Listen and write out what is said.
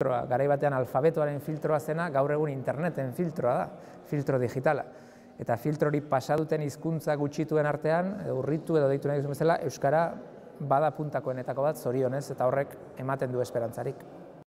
Garai batean alfabetoaren filtroa zena, gaur egun interneten filtroa da, filtro digitala. Eta filtrori pasaduten hizkuntza gutxituen artean, urritu edo deitu nahi duzun bezala, euskara bada puntakoenetako bat, zorionez, eta horrek ematen du esperantzarik.